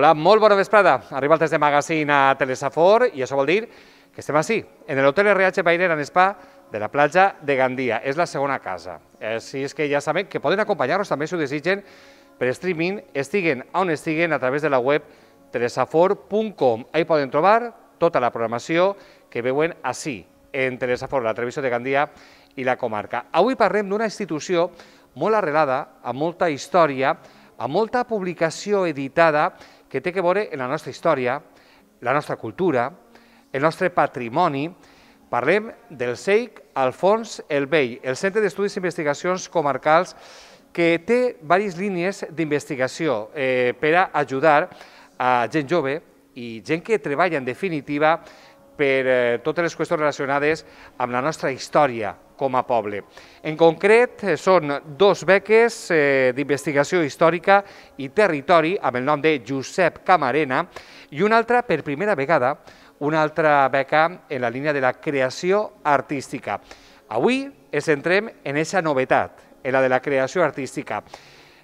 Hola, molt bona vesprada. Arriba el test de magazine a Telesafor i això vol dir que estem així, en l'Hotel RH Bainer and Spa de la platja de Gandia. És la segona casa. Així és que ja sabem que poden acompanyar-nos també si ho desitgen per streaming, estiguen on estiguen a través de la web telesafor.com. Ahí poden trobar tota la programació que veuen així, en Telesafor, la televisió de Gandia i la comarca. Avui parlem d'una institució molt arrelada, amb molta història, amb molta publicació editada que té que veure en la nostra història, la nostra cultura, el nostre patrimoni. Parlem del CEIC Alfons el Vell, el Centre d'Estudis i Investigacions Comarcals, que té diverses línies d'investigació per a ajudar a gent jove i gent que treballa en definitiva per totes les qüestions relacionades amb la nostra història com a poble. En concret, són dos beques d'investigació històrica i territori amb el nom de Josep Camarena i una altra, per primera vegada, una altra beca en la línia de la creació artística. Avui ens centrem en aquesta novetat, en la de la creació artística.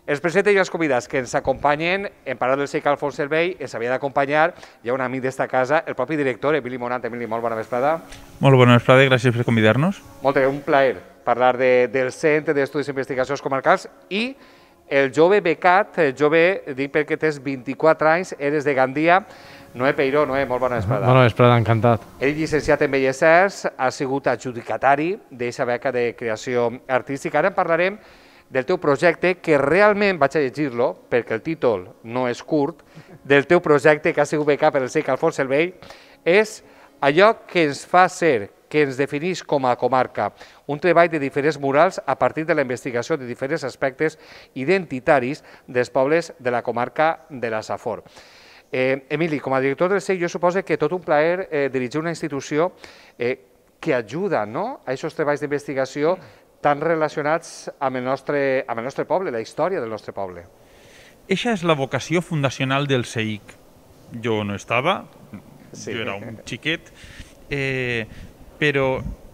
Els presento i els convidats que ens acompanyen, en parlar del CEIC Alfons el Vell, ens havia d'acompanyar, hi ha un amic d'esta casa, el propi director, Emili Monat. Emili, molt bona vesprada. Molt bona vesprada i gràcies per convidar-nos. Molt bé, un plaer parlar del Centre d'Estudis i Investigacions Comarcals i el jove becat, jove, dic perquè tens 24 anys, eres de Gandia, Noé Peiró. Noé, molt bona vesprada. Bona vesprada, encantat. Ell, llicenciat en Belles Arts, ha sigut adjudicatari d'aquesta beca de creació artística. Ara en parlarem del teu projecte, que realment, vaig a llegir-lo, perquè el títol no és curt, del teu projecte que ha sigut becat per el CEIC Alfons el Vell, és allò que ens fa ser, que ens defineix com a comarca, un treball de diferents murals a partir de la investigació de diferents aspectes identitaris dels pobles de la comarca de la Safor. Emili, com a director del CEIC, jo suposo que tot un plaer dirigir una institució que ajuda a aquests treballs d'investigació tan relacionats amb el nostre poble, la història del nostre poble. Eixa és la vocació fundacional del CEIC. Jo no estava, jo era un xiquet, però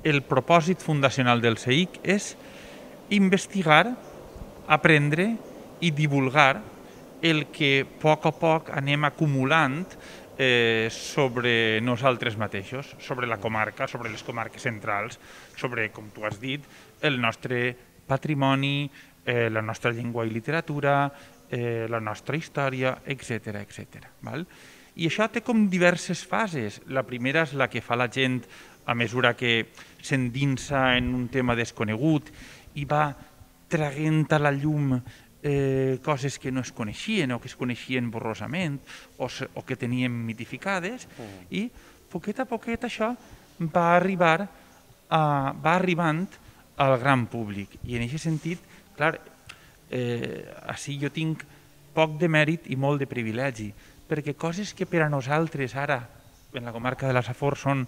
el propòsit fundacional del CEIC és investigar, aprendre i divulgar el que a poc anem acumulant sobre nosaltres mateixos, sobre la comarca, sobre les comarques centrals, sobre, com tu has dit, el nostre patrimoni, la nostra llengua i literatura, la nostra història, etc. I això té com diverses fases. La primera és la que fa la gent a mesura que s'endinsa en un tema desconegut i va traient a la llum coses que no es coneixien o que es coneixien borrosament o que tenien mitificades, i poquet a poquet això va arribant al gran públic. I en aquest sentit, clar, així jo tinc poc de mèrit i molt de privilegi, perquè coses que per a nosaltres ara, en la comarca de la Safor, són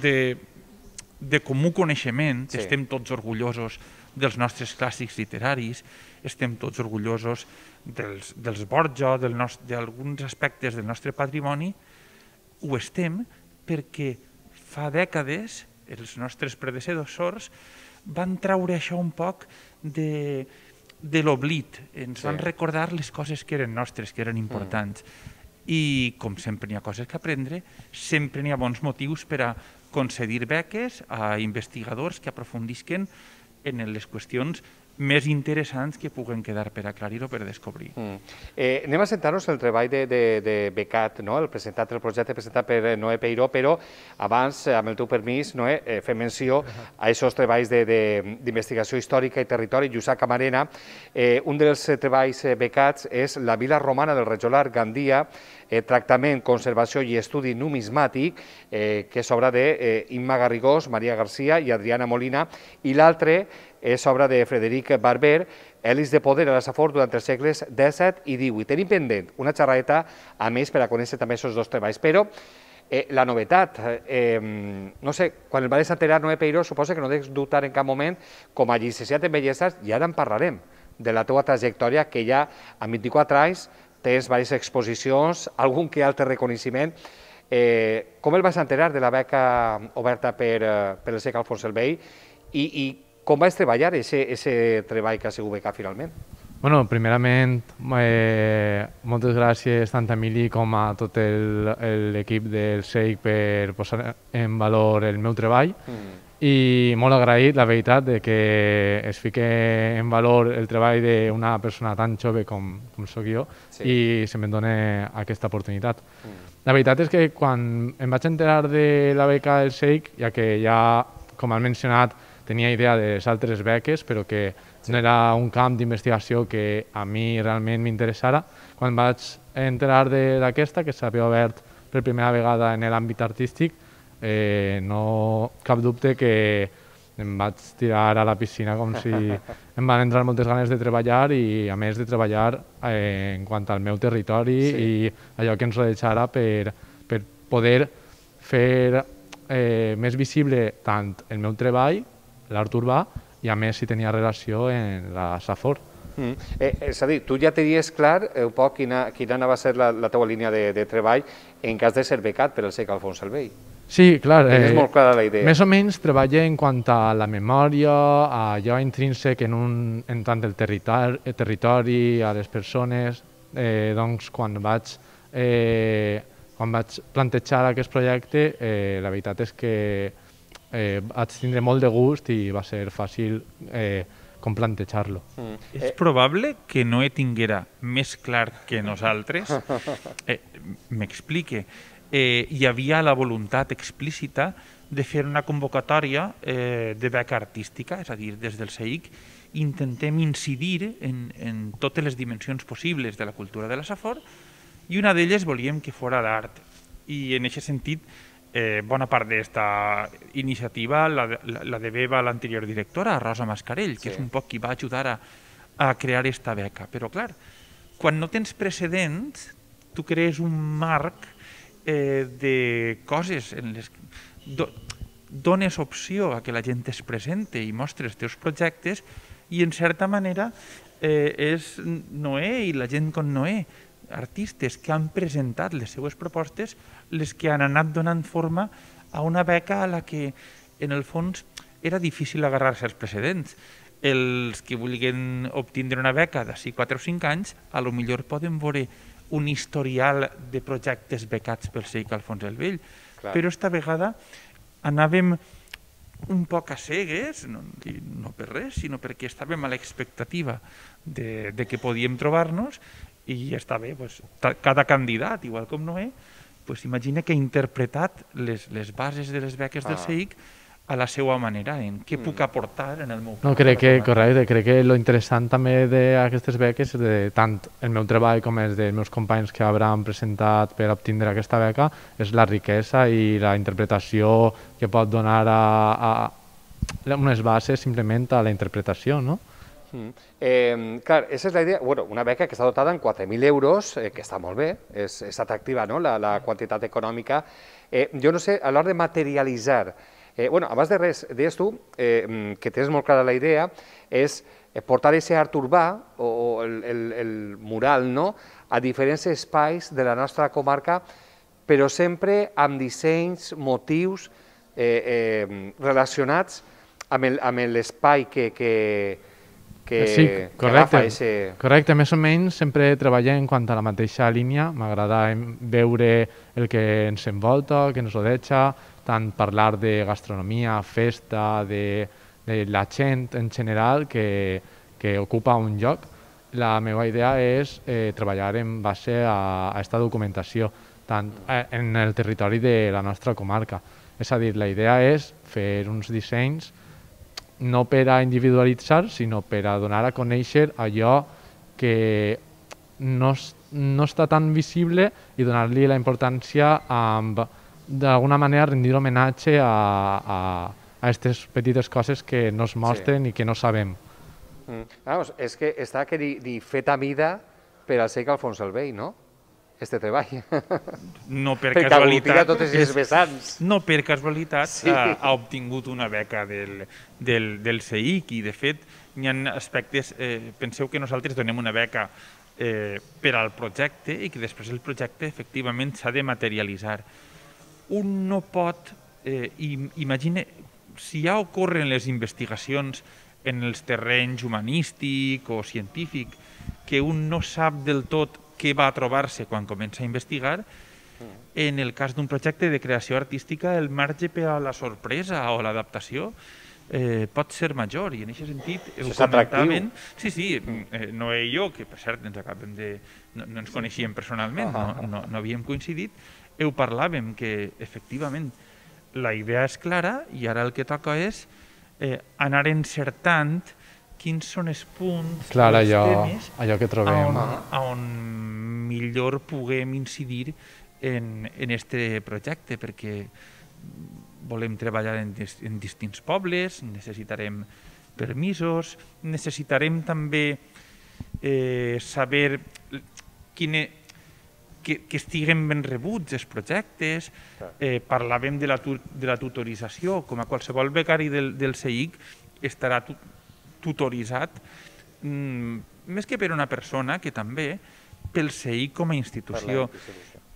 de comú coneixement, estem tots orgullosos dels nostres clàssics literaris, estem tots orgullosos dels Borja, d'alguns aspectes del nostre patrimoni, ho estem perquè fa dècades els nostres predecessors van traure això un poc de l'oblit, ens van recordar les coses que eren nostres, que eren importants. I com sempre n'hi ha coses que aprendre, sempre n'hi ha bons motius per a concedir beques a investigadors que aprofundisquen en les qüestions més interessants que puguen quedar per aclarir o per descobrir. Anem a centrar-nos en el treball de becat, el projecte presentat per Noé Peiró, però abans, amb el teu permís, Noé, fem menció a aquests treballs d'investigació històrica i territori. Josep Camarena, un dels treballs becats és La vila romana del Rajolar Gandia, tractament, conservació i estudi numismàtic, que és obra d'Imma Garrigós, Maria Garcia i Adriana Molina, i l'altre és obra de Frederic Barber, Elis de poder a la Safor durant els segles XVII i XVIII. Tenim pendent una xerradeta a més per a conèixer també aquests dos treballs, però la novetat, no sé, quan el vas enterar, Noé Peiró, suposa que no deus dubtar en cap moment, com a llicenciat en Belles Arts, i ara en parlarem, de la teva trajectòria, que ja amb 24 anys tens diverses exposicions, algun que altre reconeixement. Com el vas enterar de la beca oberta per el CEIC Alfons el Vell i com vas treballar aquest treball que ha sigut becat finalment? Bueno, primerament, moltes gràcies tant a Emili com a tot l'equip del SEIC per posar en valor el meu treball i molt agraït, la veritat, de que es fique en valor el treball d'una persona tan jove com sóc jo i se me'n doni aquesta oportunitat. La veritat és que quan em vaig enterar de la beca del SEIC, ja que ja, com has mencionat, tenia idea de les altres beques, però que no era un camp d'investigació que a mi realment m'interessara. Quan vaig enterar d'aquesta, que s'havia obert per primera vegada en l'àmbit artístic, no cap dubte que em vaig tirar a la piscina com si em van entrar moltes ganes de treballar i a més de treballar en quant al meu territori i allò que ens rodejara per poder fer més visible tant el meu treball, l'art urbà, i a més si tenia relació en la Safor. És a dir, tu ja tenies clar un poc quina anava a ser la teva línia de treball en cas de ser becat per el SEIC Alfons el Vell. Sí, clar. Tenies molt clara la idea. Més o menys treballa en quant a la memòria, a allò intrínsec en tant el territori, a les persones. Doncs quan vaig plantejar aquest projecte, la veritat és que vaig tindre molt de gust i va ser fàcil com plantejar-lo. És probable que no he tinguera més clar que nosaltres. M'explique. Hi havia la voluntat explícita de fer una convocatòria de beca artística, és a dir, des del SEIC intentem incidir en totes les dimensions possibles de la cultura de la Safor i una d'elles volíem que fos l'art. I en aquest sentit, bona part d'esta iniciativa la deveva a l'anterior directora, Rosa Mascarell, que és un poc qui va ajudar a crear esta beca. Però, clar, quan no tens precedents, tu crees un marc de coses en les que dones opció a que la gent es presente i mostres els teus projectes i, en certa manera, és Noé i la gent com Noé, artistes que han presentat les seues propostes, les que han anat donant forma a una beca a la que, en el fons, era difícil agarrar-se als precedents. Els que vulguin obtindre una beca d'ací 4 o 5 anys, a lo millor poden veure un historial de projectes becats pel SEIC Alfons el Vell. Però esta vegada anàvem un poc a cegues, no per res, sinó perquè estàvem a l'expectativa de que podíem trobar-nos i està bé, cada candidat, igual com Noé, imagina que ha interpretat les bases de les beques del SEIC a la seva manera, en què puc aportar en el meu... No, crec que lo interessant també d'aquestes beques, de tant el meu treball com els dels meus companys que hauran presentat per obtindre aquesta beca, és la riquesa i la interpretació que pot donar a unes bases simplement a la interpretació, no? Clar, aquesta és la idea, una beca que està dotada en 4.000 euros, que està molt bé, és atractiva la quantitat econòmica. Jo no sé, a l'hora de materialitzar, abans de res, deies tu que tens molt clara la idea, és portar aquest art urbà o el mural a diferents espais de la nostra comarca, però sempre amb dissenys, motius relacionats amb l'espai que correcte, més o menys sempre treballem en quant a la mateixa línia. M'agrada veure el que ens envolta, el que ens rodeja, tant parlar de gastronomia, festa, de la gent en general que ocupa un lloc. La meva idea és treballar en base a aquesta documentació, tant en el territori de la nostra comarca. És a dir, la idea és fer uns dissenys no per a individualitzar, sinó per a donar a conèixer allò que no està tan visible i donar-li la importància amb, d'alguna manera, rendir homenatge a aquestes petites coses que no es mostren i que no sabem. És que està fet a mida per al SEIC Alfons el Vell, no? Este treball. No per casualitat. Totes les vessants. No per casualitat ha obtingut una beca del SEIC i, de fet, hi ha aspectes... Penseu que nosaltres donem una beca per al projecte i que després el projecte efectivament s'ha de materialitzar. Un no pot... Imagina, si ja ocorren les investigacions en els terrenys humanístic o científic, que un no sap del tot què va trobar-se quan comença a investigar, en el cas d'un projecte de creació artística el marge per a la sorpresa o l'adaptació pot ser major, i en aquest sentit ho comentaven... Sí, Noé i jo, que per cert no ens coneixíem personalment, no havíem coincidit, ho parlàvem, que efectivament la idea és clara i ara el que toca és anar encertant quins són els punts, els temes allò que trobem, on millor puguem incidir en este projecte, perquè volem treballar en distints pobles, necessitarem permisos, necessitarem també saber que estiguen ben rebuts els projectes. Parlàvem de la tutorització, com a qualsevol becari del CEIC estarà tutoritzat, més que per una persona, que també pel CEIC com a institució.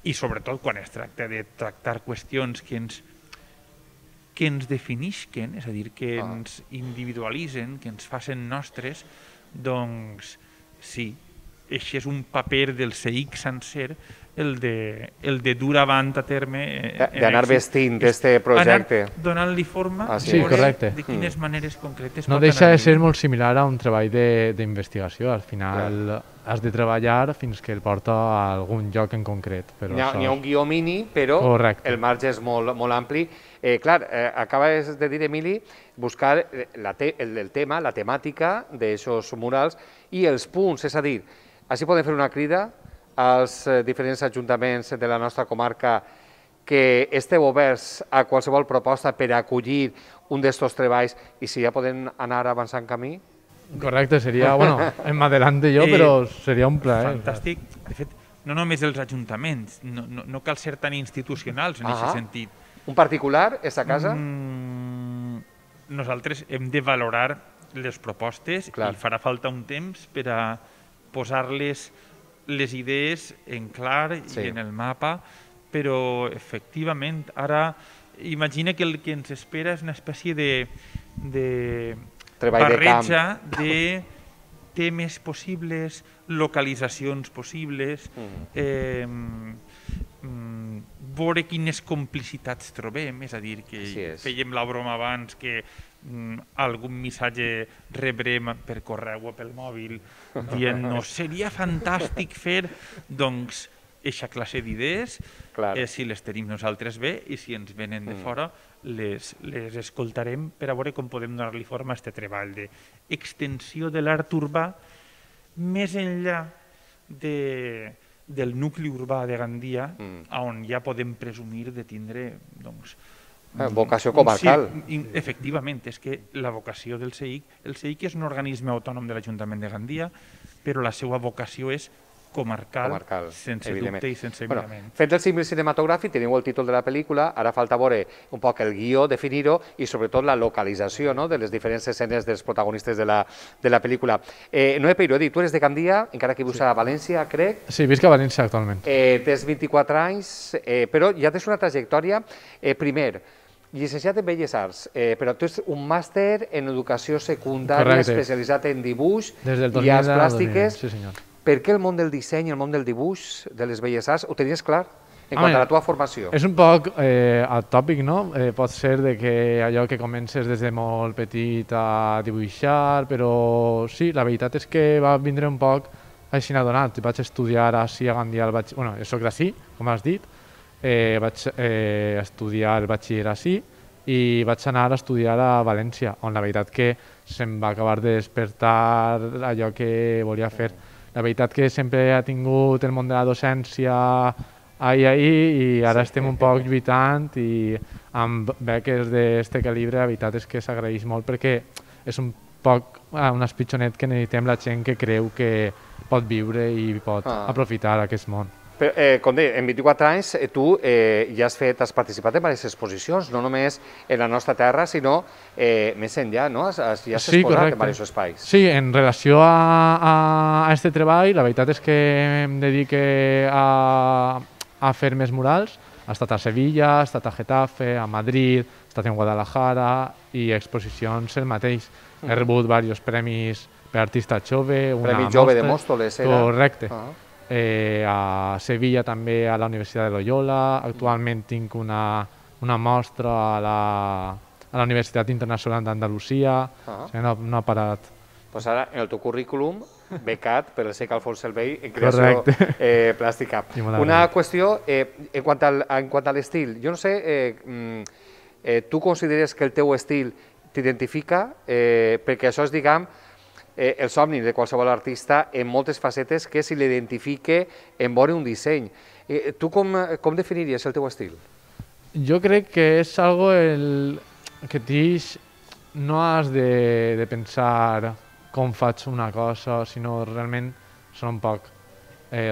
I sobretot quan es tracta de tractar qüestions que ens definixen, és a dir, que ens individualitzen, que ens facin nostres, doncs sí, això és un paper del CEIC sencer, el de dur avant a terme... D'anar vestint d'aquest projecte. Anar donant-li forma de quines maneres concretes... No deixa de ser molt similar a un treball d'investigació. Al final has de treballar fins que el porta a algun lloc en concret. N'hi ha un guió mini, però el marge és molt ampli. Clar, acabes de dir, Emili, buscar el tema, la temàtica d'aquests murals i els punts, és a dir, així podem fer una crida als diferents ajuntaments de la nostra comarca que esteu oberts a qualsevol proposta per acollir un d'estos treballs i si ja podem anar avançant camí? Correcte, seria, bueno, m'adelanto jo, però seria un plaer. Fantàstic. De fet, no només els ajuntaments, no cal ser tan institucionals en aquest sentit. Un particular, aquesta casa? Nosaltres hem de valorar les propostes i farà falta un temps per a posar-les les idees en clar i en el mapa, però efectivament ara imagina que el que ens espera és una espècie de barreja de temes possibles, localitzacions possibles, veure quines complicitats trobem, és a dir, que fèiem la broma abans que algun missatge rebrem per correu o pel mòbil dient-nos seria fantàstic fer, doncs, eixa classe d'idees, si les tenim nosaltres bé i si ens venen de fora les escoltarem per a veure com podem donar-li forma a aquest treball d'extensió de l'art urbà més enllà del nucli urbà de Gandia, on ja podem presumir de tindre, doncs, vocació comarcal. Efectivament, és que la vocació del CEIC, el CEIC és un organisme autònom de l'Ajuntament de Gandia, però la seva vocació és comarcal, sense dubte i sense mirament. Fet el símil cinematogràfic, teniu el títol de la pel·lícula, ara falta veure un poc el guió, definir-ho i sobretot la localització de les diferents escenes dels protagonistes de la pel·lícula. Noé Peiró, tu eres de Gandia, encara que vius a València, crec. Sí, visc a València actualment. Tens 24 anys, però ja tens una trajectòria. Primer, llicenciat en Belles Arts, però tu ets un màster en educació secundària especialitzat en dibuix i arts plàstiques. Sí, senyor. Per què el món del disseny, el món del dibuix, de les belles arts, ho tenies clar en quant a la teva formació? És un poc atòpic, no? Pot ser que allò que comences des de molt petit a dibuixar, però sí, la veritat és que va vindre un poc així adonat. Vaig estudiar així a Gandia, bueno, jo soc d'ací, com has dit, vaig estudiar el batxiller així i vaig anar a estudiar a València, on la veritat que se'm va acabar de despertar allò que volia fer. La veritat que sempre ha tingut el món de la docència ahir i ara estem un poc lluitant i amb beques d'aquest calibre la veritat és que s'agraeix molt perquè és un poc un espitjonet que necessitem la gent que creu que pot viure i pot aprofitar aquest món. Com deia, en 24 anys tu ja has participat en diverses exposicions, no només en la nostra terra, sinó més enllà, no? Ja has exposat en diversos espais. Sí, en relació a aquest treball, la veritat és que em dedique a fer més murals. Ha estat a Sevilla, ha estat a Getafe, a Madrid, ha estat en Guadalajara i exposicions el mateix. He rebut diversos premis per artista jove. Premi Jove de Móstoles, era? Correcte. A Sevilla també, a la Universitat de Loyola. Actualment tinc una mostra a la Universitat Internacional d'Andalusia. No ha parat. Doncs ara, en el teu currículum, becat per el SEIC Alfons Selvell en creació plàstica. Una qüestió, en quant a l'estil, jo no sé, tu consideres que el teu estil t'identifica? Perquè això és, diguem, el somni de qualsevol artista en moltes facetes que se l'identifique en veure un disseny. Tu com definiries el teu estil? Jo crec que és algo que tix no has de pensar com faig una cosa, sinó realment són un poc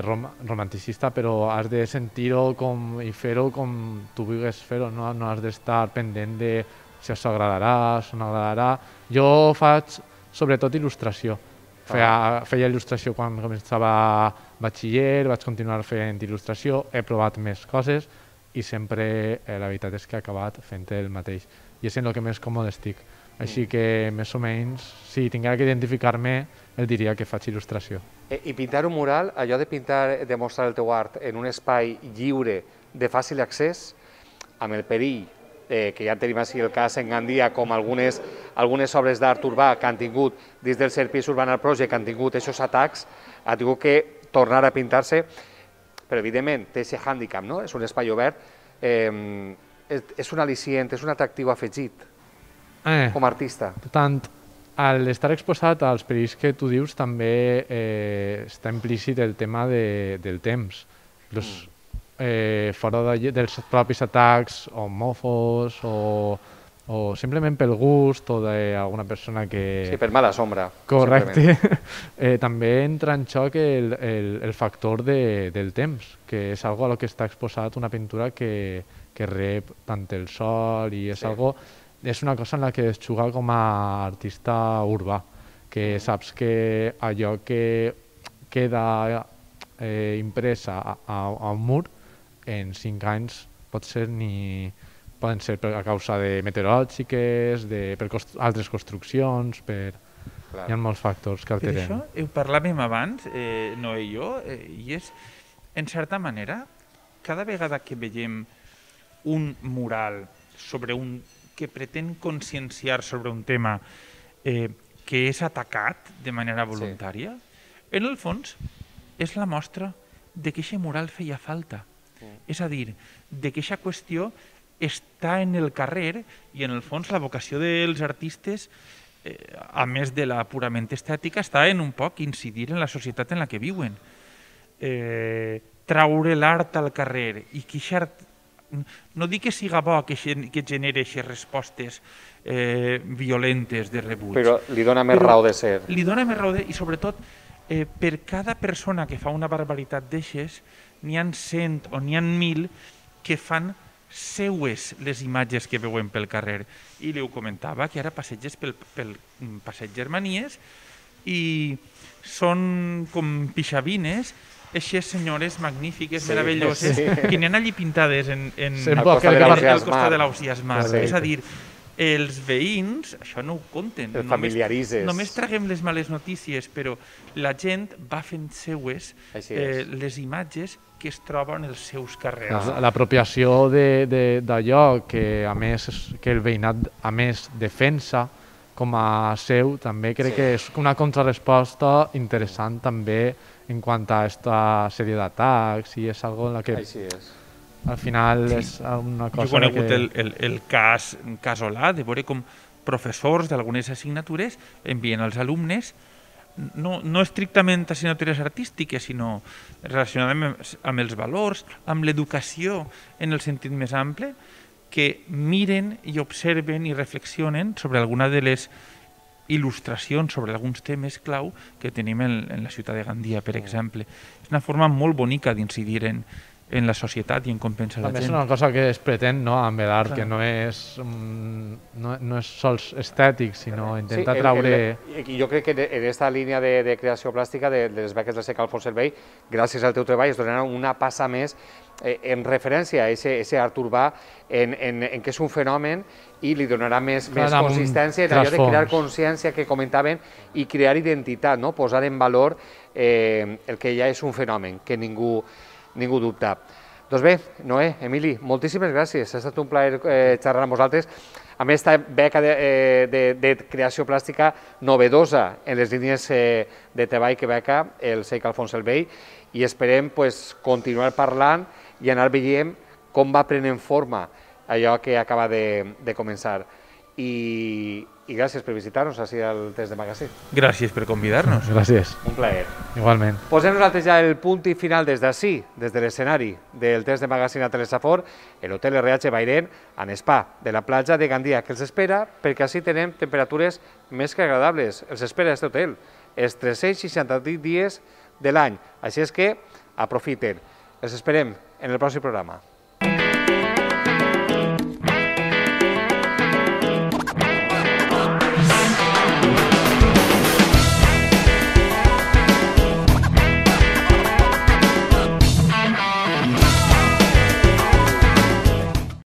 romanticista, però has de sentir-ho i fer-ho com tu vulguis fer-ho, no has d'estar pendent de si això agradarà, si no agradarà. Jo faig sobretot il·lustració. Feia il·lustració quan començava batxiller, vaig continuar fent il·lustració, he provat més coses i sempre la veritat és que he acabat fent el mateix. I és en el que més còmode estic. Així que, més o menys, si tinguera que identificar-me, el diria que faig il·lustració. I pintar un mural, allò de pintar, de mostrar el teu art en un espai lliure, de fàcil accés, amb el perill, que ja tenim així el cas en Gandia, com algunes obres d'art urbà que han tingut, dins del Serpis Urbanal Project, que han tingut aquests atacs, ha tingut que tornar a pintar-se, però evidentment té aquest hàndicap, no? És un espai obert, és un al·licient, és un atractiu afegit. Com a artista. Tant, a l'estar exposat als perills que tu dius també està implícit el tema del temps. Fora dels propis atacs homòfobs o simplement pel gust o d'alguna persona que... Sí, per mala sombra. Correcte. També entra en xoc el factor del temps, que és algo a lo que està exposat una pintura que rep tant el sol i és algo... És una cosa en la que es juga com a artista urbà, que saps que allò que queda impresa a un mur en 5 anys poden ser a causa de meteorològiques, per altres construccions, hi ha molts factors que alteren. Per això ho parlàvem abans, Noé i jo, i és, en certa manera, cada vegada que veiem un mural sobre que pretén conscienciar sobre un tema que és atacat de manera voluntària, en el fons és la mostra de que aquest mural feia falta. És a dir, de que aquesta qüestió està en el carrer i en el fons la vocació dels artistes, a més de la purament estètica, està en un poc incidir en la societat en la que viuen. Traure l'art al carrer i que aquest art no dic que siga bo que generi aquestes respostes violentes de rebuig. Però li dona més raó de ser. Li dona més raó i sobretot per cada persona que fa una barbaritat d'aixes n'hi ha 100 o n'hi ha 1.000 que fan seues les imatges que veuen pel carrer. I li ho comentava, que ara passeges pel passeig Germanies i són com pixavines eixes senyores magnífiques, meravelloses, que n'hi ha allí pintades al costat de l'entusiasmat. És a dir, els veïns, això no ho compten. El familiaritzes. Només traguem les males notícies, però la gent va fent seues les imatges que es troben als seus carrers. L'apropiació d'allò que el veïnat a més defensa com a seu, també crec que és una contrarresposta interessant també en quant a aquesta sèrie d'atacs i és algo en la que al final és una cosa que... Jo he conegut el cas casolà de veure com professors d'algunes assignatures envien als alumnes no estrictament assignatures artístiques, sinó relacionades amb els valors, amb l'educació en el sentit més ample, que miren i observen i reflexionen sobre alguna de les il·lustracions sobre alguns temes clau que tenim en la ciutat de Gandia, per exemple. És una forma molt bonica d'incidir en en la societat i en com pensa la També és gent. una cosa que es pretén, no?, amb l'art, que no és sols estètic, sinó intentar traure... Jo crec que en aquesta línia de creació plàstica de les beques del SEIC Alfons Servei, gràcies al teu treball, es donarà una passa més en referència a aquest art urbà, en què és un fenomen, i li donarà més consistència en allò de crear consciència que comentaven i crear identitat, posar en valor el que ja és un fenomen, que ningú dubta. Doncs bé, Noé, Emili, moltíssimes gràcies. Ha estat un plaer xerrar amb vosaltres amb aquesta beca de creació plàstica novedosa en les línies de treball que beca el SEIC Alfons el Vell, i esperem continuar parlant i anar veient com va prenent forma allò que acaba de començar. I gràcies per visitar-nos així al Test de Magazine. Gràcies per convidar-nos. Gràcies. Un plaer. Igualment. Posem nosaltres ja el punt i final des d'ací, des de l'escenari del Test de Magazine a Telesafor, l'Hotel RH Bairén, en spa de la platja de Gandia, que els espera perquè així tenem temperatures més que agradables. Els espera aquest hotel, els 368 dies de l'any. Així és que aprofiten. Els esperem en el pròxim programa.